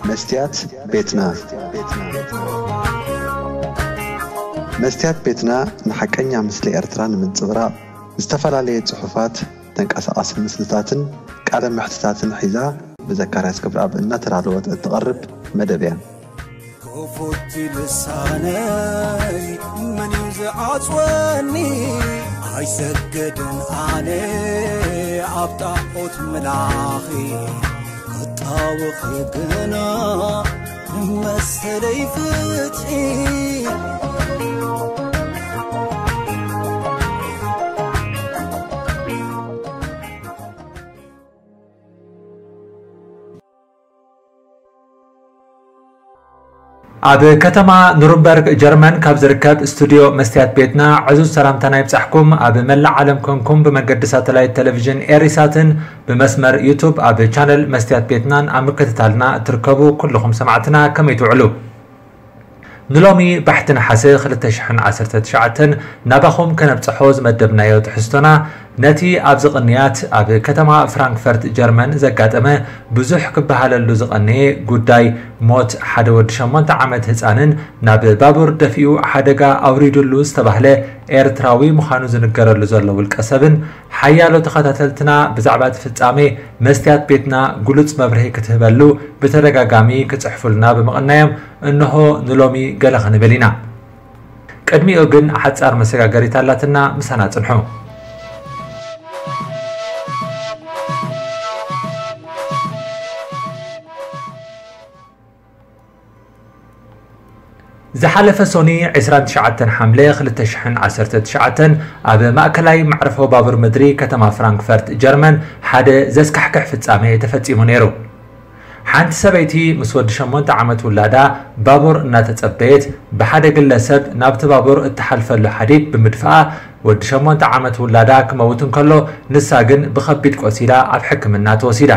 መስትያት ቤትና። መስትያት ቤትና ንሓቀኛ ምስሊ ኤርትራ ንምንጽብራቕ ዝተፈላለየ ጽሑፋት፣ ተንቀሳቓሲ ምስልታትን ቃለ መሕትታትን ሒዛ ብዘካርያስ ገብረኣብ እናተዳለወት እትቐርብ መደብ እያ። ክፉት ልሳነይ መን እዩ ዝዓጽወኒ? ኣይሰግድን ኣነ ኣብ ጣዖት ምላኺ፣ ክጣወኺ ግና መሰለይ ፍትሒ። ኣብ ከተማ ኑርንበርግ ጀርመን ካብ ዝርከብ ስቱድዮ መስትያት ቤትና ዕዙዝ ሰላምታና ይብጻሕኩም። ኣብ መላእ ዓለም ኮንኩም ብመገዲ ሳተላይት ቴሌቪዥን ኤሪሳትን ብመስመር ዩቱብ ኣብ ቻነል መስትያት ቤትናን ኣብ ምክትታልና እትርከቡ ኩልኹም ሰማዕትና ከመይ ትውዕሉ? ንሎሚ ባሕቲ ነሓሰ ክልተ ሽሕን ዓሰርተ ትሽዓተን ናባኹም ከነብጽሖ ዝመደብናዮ ትሕዝቶና ነቲ ኣብዚ ቅንያት ኣብ ከተማ ፍራንክፈርት ጀርመን ዘጋጠመ ብዙሕ ክበሃለሉ ዝቐነየ ጉዳይ ሞት ሓደ ወዲ ሸሞንተ ዓመት ህጻንን ናብ ባቡር ደፊኡ ሓደጋ ኣውሪዱሉ ዝተባህለ ኤርትራዊ ምዃኑ ዝንገረሉ ዘሎ ውልቀ ሰብን ሓያሎ ተኸታተልትና ብዛዕባ እቲ ፍጻሜ መስትያት ቤትና ግሉጽ መብርሂ ክትህበሉ ብተደጋጋሚ ክጽሕፉልና ብምቕናዮም እንሆ ንሎሚ ገለ ክንብል ኢና። ቅድሚኡ ግን ሓጻር መሰጋገሪት ኣላትና፣ ምሳና ጽንሑ። ዝሓለፈ ሶኒ ዕስራን ትሽዓተን ሓምለ ክልተ ሽሕን ዓሰርተ ትሽዓተን ኣብ ማእከላይ መዕርፎ ባቡር ምድሪ ከተማ ፍራንክፈርት ጀርመን ሓደ ዘስካሕክሕ ፍጻሜ ተፈጺሙ ነይሩ። ሓንቲ ሰበይቲ ምስ ወዲ ሸሞንተ ዓመት ውላዳ ባቡር እናተጸበየት ብሓደ ግለሰብ ናብቲ ባቡር እትሓልፈሉ ሓዲድ ብምድፍኣ ወዲ ሸሞንተ ዓመት ውላዳ ክመውት እንከሎ ንሳ ግን ብኸቢድ ቆሲላ ኣብ ሕክምና ተወሲዳ።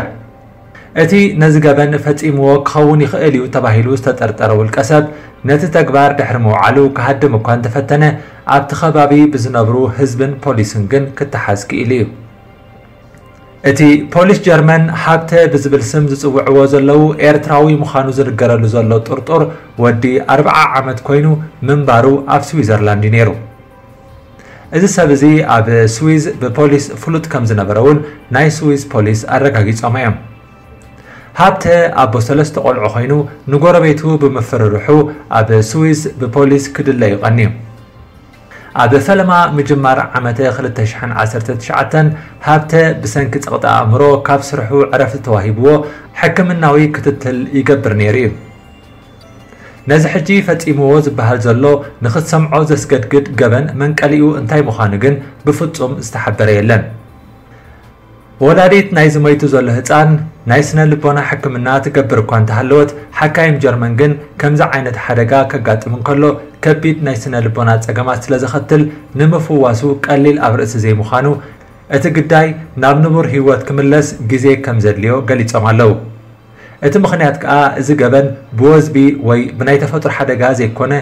እቲ ነዚ ገበን ፈጺምዎ ክኸውን ይኽእል እዩ ተባሂሉ ዝተጠርጠረ ውልቀ ሰብ ነቲ ተግባር ድሕሪ ምውዓሉ ክሃድም እኳ እንተፈተነ ኣብቲ ከባቢ ብዝነብሩ ህዝብን ፖሊስን ግን ክተሓዝ ክኢሉ እዩ። እቲ ፖሊስ ጀርመን ሃብተ ብዝብል ስም ዝጽውዕዎ ዘለዉ ኤርትራዊ ምዃኑ ዝንገረሉ ዘሎ ጥርጡር ወዲ ኣርብዓ ዓመት ኮይኑ ምንባሩ ኣብ ስዊዘርላንድ እዩ ነይሩ። እዚ ሰብ እዚ ኣብ ስዊዝ ብፖሊስ ፍሉጥ ከም ዝነበረ እውን ናይ ስዊዝ ፖሊስ ኣረጋጊጾም እዮም። ሃብተ ኣቦ ሰለስተ ቆልዑ ኮይኑ ንጎረቤቱ ብምፍርርሑ ኣብ ስዊዝ ብፖሊስ ክድለ እዩ ቀንዩ። ኣብ ፈለማ ምጅማር ዓመተ ክልተ ሽሕን ዓሰርተ ትሽዓተን ሃብተ ብሰንኪ ጸቕጢ ኣእምሮ ካብ ስርሑ ዕረፍቲ ተዋሂብዎ ሕክምናዊ ክትትል ይገብር ነይሩ እዩ። ነዚ ሕጂ ፈጺምዎ ዝበሃል ዘሎ ንኽትሰምዖ ዘስገድግድ ገበን መንቀሊኡ እንታይ ምዃኑ ግን ብፍጹም ዝተሓበረ የለን። ወላዲት ናይዚ ሞይቱ ዘሎ ህጻን ናይ ስነ ልቦና ሕክምና ትገብር እኳ እንተሃለወት፣ ሓካይም ጀርመን ግን ከምዚ ዓይነት ሓደጋ ከጋጥም እንከሎ ከቢድ ናይ ስነ ልቦና ጸገማት ስለ ዘኸትል ንምፍዋሱ ቀሊል ኣብ ርእሲ ዘይምዃኑ፣ እቲ ግዳይ ናብ ንቡር ህይወት ክምለስ ግዜ ከም ዘድልዮ ገሊጾም ኣለዉ። እቲ ምኽንያት ከኣ እዚ ገበን ብወዝቢ ወይ ብናይ ተፈጥሮ ሓደጋ ዘይኮነ፣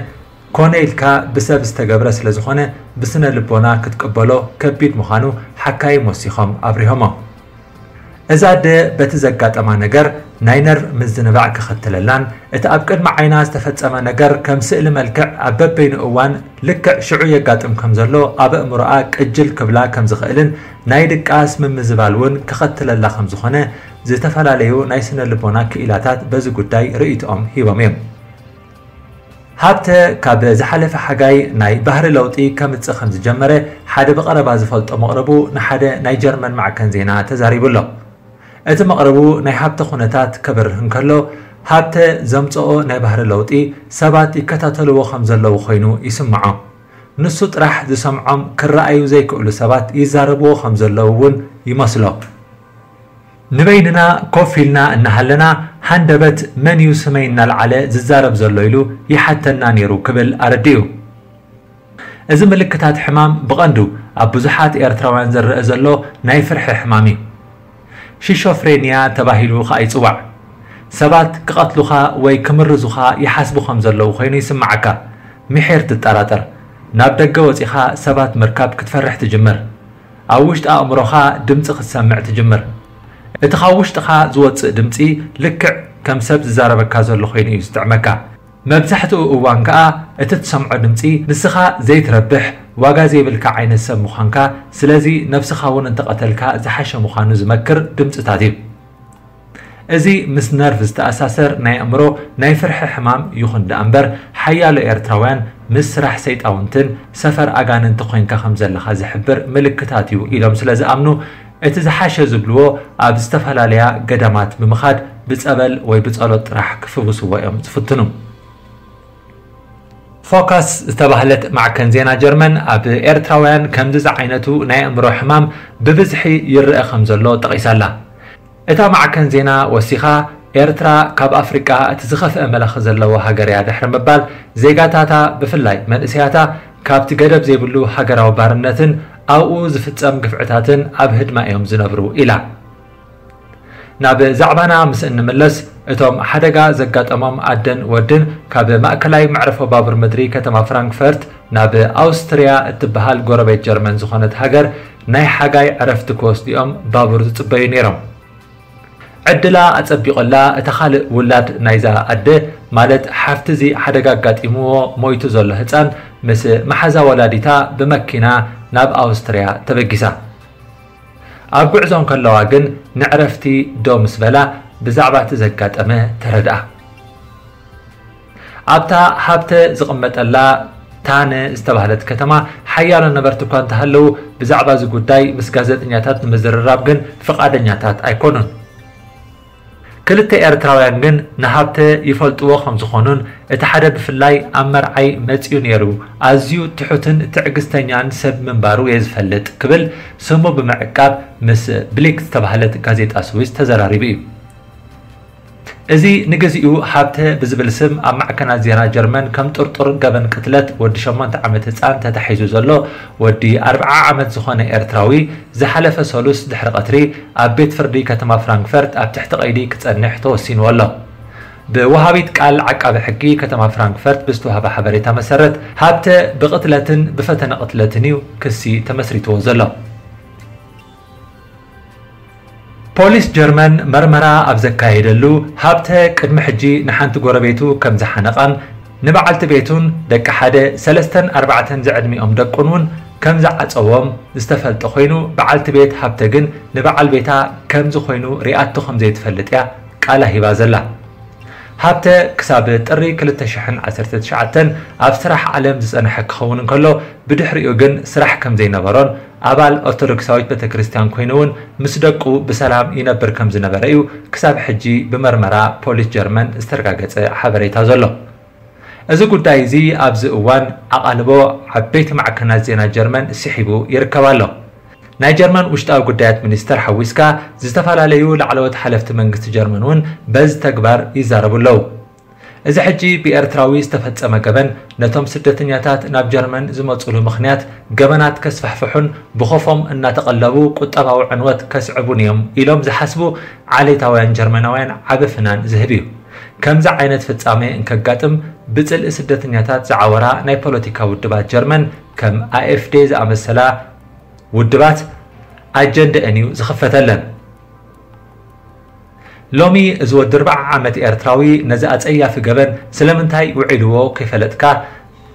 ኮነ ኢልካ ብሰብ ዝተገብረ ስለ ዝኾነ ብስነ ልቦና ክትቅበሎ ከቢድ ምዃኑ ሓካይም ወሲኾም ኣብሪሆሞ። እዛ ኣደ በቲ ዘጋጠማ ነገር ናይ ነርቭ ምዝንባዕ ከኸትለላን እቲ ኣብ ቅድሚ ዓይና ዝተፈጸመ ነገር ከም ስእሊ መልክዕ ኣብ በበይኑ እዋን ልክዕ ሽዑ የጋጥም ከም ዘሎ ኣብ ኣእምሮኣ ቅጅል ክብላ ከም ዝኽእልን ናይ ድቃስ ምምዝባል እውን ከኸትለላ ከም ዝኾነ ዝተፈላለዩ ናይ ስነ ልቦና ክኢላታት በዚ ጉዳይ ርእይቶኦም ሂቦም እዮም። ሃብተ ካብ ዝሓለፈ ሓጋይ ናይ ባህሪ ለውጢ ከምጽእ ከም ዝጀመረ ሓደ ብቐረባ ዝፈልጦ መቕርቡ ንሓደ ናይ ጀርመን ማዕከን ዜና ተዛሪቡ ኣሎ። እቲ መቕርቡ ናይ ሃብተ ኩነታት ከብርህ እንከሎ፣ ሃብተ ዘምጽኦ ናይ ባህሪ ለውጢ ሰባት ይከታተልዎ ከም ዘለዉ ኮይኑ ይስምዖ። ንሱ ጥራሕ ዝሰምዖም ክረኣዩ ዘይክእሉ ሰባት ይዛረብዎ ከም ዘለዉ እውን ይመስሎ። ንበይንና ኮፍ ኢልና እናሃለና ሃንደበት መን እዩ ስመይ እናልዓለ ዝዛረብ ዘሎ ኢሉ ይሓተና ነይሩ ክብል ኣረዲኡ። እዚ ምልክታት ሕማም ብቐንዱ ኣብ ብዙሓት ኤርትራውያን ዝረአ ዘሎ ናይ ፍርሒ ሕማም እዩ። ሽሾፍሬንያ ተባሂሉ ኸኣ ይጽዋዕ። ሰባት ክቐትሉኻ ወይ ክምርዙኻ ይሓስቡ ከም ዘለዉ ኮይኑ ይስምዓካ። ምሒር ትጠራጠር። ናብ ደገ ወጺኻ ሰባት ምርካብ ክትፈርሕ ትጅምር። ኣብ ውሽጢ ኣእምሮኻ ድምጺ ክትሰምዕ ትጅምር። እቲ ካብ ውሽጥኻ ዝወጽእ ድምጺ ልክዕ ከም ሰብ ዝዛረበካ ዘሎ ኮይኑ እዩ ዝጥዕመካ። መብዛሕትኡ እዋን ከኣ እቲ ትሰምዖ ድምጺ ንስኻ ዘይትረብሕ፣ ዋጋ ዘይብልካ ዓይነት ሰብ ምዃንካ፣ ስለዚ ነብስኻ እውን እንተቐተልካ ዝሓሸ ምዃኑ ዝመክር ድምጽታት እዩ። እዚ ምስ ነርቭ ዝተኣሳሰር ናይ ኣእምሮ ናይ ፍርሒ ሕማም ይኹን ደኣ እምበር፣ ሓያሎ ኤርትራውያን ምስ ስራሕ ሰይጣውንትን ሰፈር ኣጋንንቲ ኮይንካ ከም ዘለኻ ዝሕብር ምልክታት እዩ ኢሎም ስለ ዝኣምኑ፣ እቲ ዝሓሸ ዝብልዎ ኣብ ዝተፈላለያ ገዳማት ብምኻድ ብጸበል ወይ ብጸሎት ጥራሕ ክፍውስዎ እዮም ዝፍትኑ። ፎካስ ዝተባህለት ማዕከን ዜና ጀርመን ኣብ ኤርትራውያን ከምዚ ዝዓይነቱ ናይ ኣእምሮ ሕማም ብብዝሒ ይረአ ከም ዘሎ ጠቒሳላ። እታ ማዕከን ዜና ወሲኻ፣ ኤርትራ ካብ ኣፍሪቃ እቲ ዝኸፍአ መለኺ ዘለዎ ሃገር እያ ድሕሪ ምባል፣ ዜጋታታ ብፍላይ መንእሰያታ ካብቲ ገደብ ዘይብሉ ሃገራዊ ባርነትን ኣብኡ ዝፍጸም ግፍዕታትን ኣብ ህድማ እዮም ዝነብሩ ኢላ። ናብ ዛዕባና ምስ እንምለስ፣ እቶም ሓደጋ ዘጋጠሞም ኣደን ወድን ካብ ማእከላይ መዕርፎ ባቡር ምድሪ ከተማ ፍራንክፈርት ናብ ኣውስትርያ እትበሃል ጎረቤት ጀርመን ዝኾነት ሃገር ናይ ሓጋይ ዕረፍቲ ክወስዱ እዮም ባቡር ዝጽበዩ ነይሮም። ዕድላ ኣጸቢቑላ፣ እታ ካልእ ውላድ ናይዛ ኣደ፣ ማለት ሓፍቲ እዚ ሓደጋ ኣጋጢምዎ ሞይቱ ዘሎ ህጻን ምስ መሓዛ ወላዲታ ብመኪና ናብ ኣውስትርያ ተበጊሳ። ኣብ ጉዕዞ እንከለዋ ግን ንዕረፍቲ ደው ምስ በላ ብዛዕባ እቲ ዘጋጠመ ተረድኣ። ኣብታ ሃብተ ዝቕመጠላ ታነ ዝተባህለት ከተማ ሓያሎ ነበርቲ እኳ እንተሃለዉ ብዛዕባ እዚ ጉዳይ ምስ ጋዜጠኛታት ንምዝርራብ ግን ፍቓደኛታት ኣይኮኑን። ክልተ ኤርትራውያን ግን ንሃብተ ይፈልጥዎ ከም ዝኾኑን እቲ ሓደ ብፍላይ ኣብ መርዓይ መጺኡ ነይሩ፣ ኣዝዩ ትሑትን ትዕግስተኛን ሰብ ምንባሩ እየ ዝፈልጥ ክብል ስሙ ብምዕቃብ ምስ ብሊክ ዝተባህለት ጋዜጣ ስዊስ ተዘራሪቡ እዩ። እዚ ንግዚኡ ሃብተ ብዝብል ስም ኣብ ማዕከናት ዜና ጀርመን ከም ጥርጡር ገበን ቅትለት ወዲ ሸሞንተ ዓመት ህጻን ተታሒዙ ዘሎ ወዲ ኣርብዓ ዓመት ዝኾነ ኤርትራዊ ዝሓለፈ ሰሉስ ድሕሪ ቀትሪ ኣብ ቤት ፍርዲ ከተማ ፍራንክፈርት ኣብ ትሕቲ ቀይዲ ክጸንሕ ተወሲንዎ ኣሎ። ብወሃቢት ቃል ዓቃቢ ሕጊ ከተማ ፍራንክፈርት ብዝተዋህበ ሓበሬታ መሰረት፣ ሃብተ ብቕትለትን ብፈተነ ቅትለትን እዩ ክሲ ተመስሪትዎ ዘሎ። ፖሊስ ጀርመን መርመራ ኣብ ዘካየደሉ፣ ሃብተ ቅድሚ ሕጂ ንሓንቲ ጎረቤቱ ከም ዝሓነቓን ንበዓልቲ ቤቱን ደቂ ሓደ፣ ሰለስተን ኣርባዕተን ዝዕድሚኦም ደቁን እውን ከም ዝዓጸዎም ዝተፈልጠ ኮይኑ፣ በዓልቲ ቤት ሃብተ ግን ንበዓል ቤታ ከምዚ ኮይኑ ሪኣቶ ከም ዘይትፈልጥ እያ ቃላ ሂባ ዘላ። ሃብተ ክሳብ ጥሪ ክልተ ሽሕን ዓሰርተ ትሽዓተን ኣብ ስራሕ ዓለም ዝጸንሐ ክኸውን እንከሎ፣ ብድሕሪኡ ግን ስራሕ ከም ዘይነበሮን ኣባል ኦርቶዶክሳዊት ቤተክርስትያን ኮይኑ እውን ምስ ደቁ ብሰላም ይነብር ከም ዝነበረ እዩ ክሳብ ሕጂ ብመርመራ ፖሊስ ጀርመን ዝተረጋገጸ ሓበሬታ ዘሎ። እዚ ጉዳይ እዚ ኣብዚ እዋን ኣቓልቦ ዓበይቲ ማዕከናት ዜና ጀርመን ስሒቡ ይርከብ ኣሎ። ናይ ጀርመን ውሽጣዊ ጉዳያት ሚኒስተር ሓዊስካ ዝተፈላለዩ ላዕለዎት ሓለፍቲ መንግስቲ ጀርመን እውን በዚ ተግባር ይዛረቡ ኣለዉ። እዚ ሕጂ ብኤርትራዊ ዝተፈጸመ ገበን ነቶም ስደተኛታት ናብ ጀርመን ዝመጹሉ ምኽንያት ገበናት ከስፋሕፍሑን ብኾፎም እናተቐለቡ ቁጠባዊ ዕንወት ከስዕቡን እዮም ኢሎም ዝሓስቡ ዓሌታውያን ጀርመናውያን ዓቢ ፍናን ዝህብ እዩ። ከምዚ ዓይነት ፍጻሜ እንከጋጥም ብጽልኢ ስደተኛታት ዝዓወራ ናይ ፖለቲካ ውድባት ጀርመን ከም ኣኤፍዴ ዝኣመሰላ ውድባት ኣጀንደአን እዩ ዝኽፈተለን። ሎሚ እዚ ወዲ ኣርብዓ ዓመት ኤርትራዊ ነዚ ኣጸያፊ ገበን ስለምንታይ ውዒልዎ ከይፈለጥካ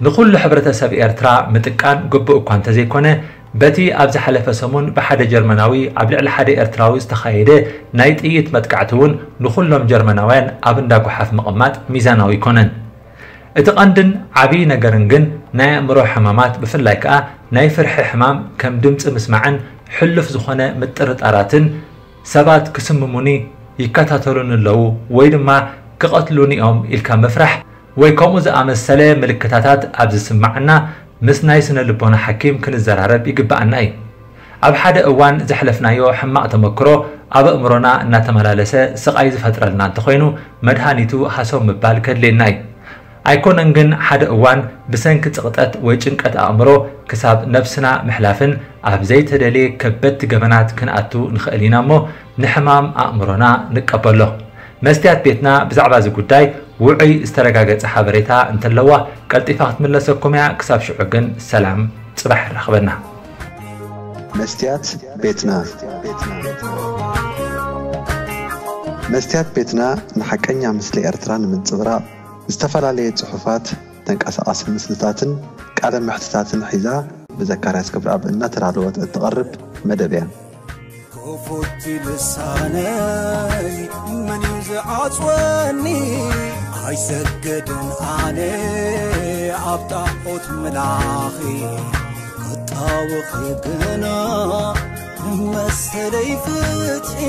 ንኹሉ ሕብረተሰብ ኤርትራ ምጥቃን ግቡእ እኳ እንተዘይኮነ፣ በቲ ኣብ ዝሓለፈ ሰሙን ብሓደ ጀርመናዊ ኣብ ልዕሊ ሓደ ኤርትራዊ ዝተኻየደ ናይ ጥይት መጥቃዕቲ እውን ንኹሎም ጀርመናውያን ኣብ እንዳ ጓሓፍ ምቕማጥ ሚዛናዊ ኣይኮነን። እቲ ቀንድን ዓብዪ ነገርን ግን ናይ ኣእምሮ ሕማማት ብፍላይ ከኣ ናይ ፍርሒ ሕማም ከም ድምጺ ምስማዕን ሕሉፍ ዝኾነ ምጥርጣራትን ሰባት ክስምሙኒ ይከታተሉኒ ኣለዉ ወይ ድማ ክቐትሉኒ እዮም ኢልካ ምፍራሕ ወይ ከምኡ ዝኣመሰለ ምልክታታት ኣብ ዝስምዓና ምስ ናይ ስነ ልቦና ሓኪም ክንዘራረብ ይግብኣና እዩ። ኣብ ሓደ እዋን ዘሕለፍናዮ ሕማቕ ተመክሮ ኣብ ኣእምሮና እናተመላለሰ ስቓይ ዝፈጥረልና እንተኾይኑ መድሃኒቱ ሃሰው ምባል ከድልየና እዩ። ኣይኮነን ግን ሓደ እዋን ብሰንኪ ጽቕጠት ወይ ጭንቀት ኣእምሮ ክሳብ ነብስና ምሕላፍን ኣብ ዘይተደልየ ከበድቲ ገበናት ክንኣቱ ንኽእል ኢና እሞ ንሕማም ኣእምሮና ንቀበሎ። መስትያት ቤትና ብዛዕባ እዚ ጉዳይ ውዑይ ዝተረጋገጸ ሓበሬታ እንተለዋ ቀልጢፋ ክትምለሰኩም እያ። ክሳብ ሽዑ ግን ሰላም፣ ጽባሕ የራኽበና። መስትያት ቤትና። መስትያት ቤትና ንሓቀኛ ምስሊ ኤርትራ ንምንጽብራቕ ዝተፈላለየ ጽሑፋት፣ ተንቀሳቓሲ ምስልታትን ቃለ መሕትታትን ሒዛ ብዘካርያስ ክብረኣብ እናተዳለወት እትቐርብ መደብ እያ። ክፉት ልሳነይ መን እዩ ዝዓጽወኒ? ኣይሰግድን ኣነ ኣብ ጣዖት ምላኺ ክጣወኺ ግና መሰለይ ፍትሒ